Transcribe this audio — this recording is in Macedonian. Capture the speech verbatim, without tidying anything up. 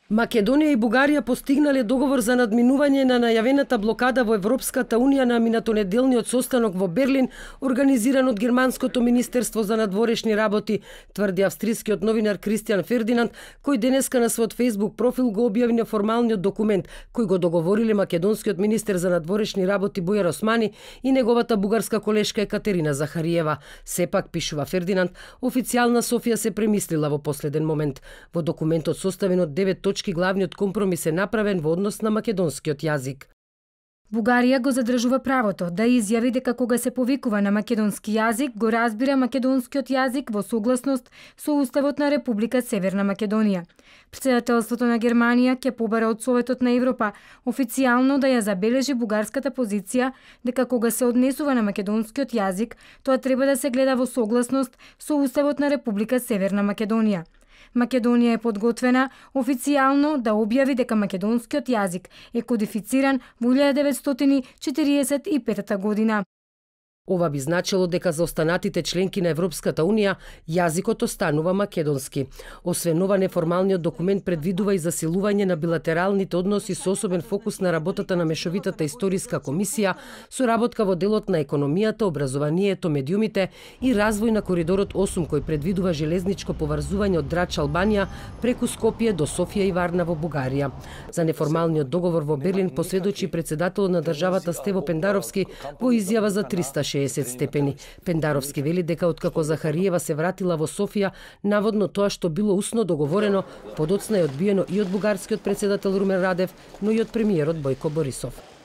Македонија и Бугарија постигнале договор за надминување на најавената блокада во Европската Унија на минатонеделниот состанок во Берлин, организиран од Германското министерство за надворешни работи, тврди австрискиот новинар Кристијан Фердинанд, кој денеска на својот Facebook профил го објави неформалниот документ кој го договориле македонскиот министер за надворешни работи Бујар Османи и неговата бугарска колешка Екатерина Захариева. Сепак, пишува Фердинанд, официјална Софија се премислила во последен момент. Во документот составен од девет точки главниот компромис е направен во однос на македонскиот јазик. Бугарија го задржува правото да изјави дека кога се повикува на македонски јазик, го разбира македонскиот јазик во согласност со Уставот на Република Северна Македонија. Претседателството на Германија ќе побара од Советот на Европа официјално да ја забележи бугарската позиција дека кога се однесува на македонскиот јазик, тоа треба да се гледа во согласност со Уставот на Република Северна Македонија. Македонија е подготвена официјално да објави дека македонскиот јазик е кодифициран во илјада деветстотини четириесет и петата година. Ова би значило дека за останатите членки на Европската Унија јазикот останува македонски. Освен ова, неформалниот документ предвидува и засилување на билатералните односи со особен фокус на работата на мешовитата историска комисија, соработка во делот на економијата, образованието, медиумите и развој на коридорот осум кој предвидува железничко поврзување од Драч, Албанија преку Скопје до Софија и Варна во Бугарија. За неформалниот договор во Берлин посведочи претседателот на државата Стево Пендаровски во изјава за триста шеесет степени. Пендаровски вели дека откако Захариева се вратила во Софија, наводно тоа што било усно договорено, подоцна е одбиено и од бугарскиот претседател Румен Радев, но и од премиерот Бојко Борисов.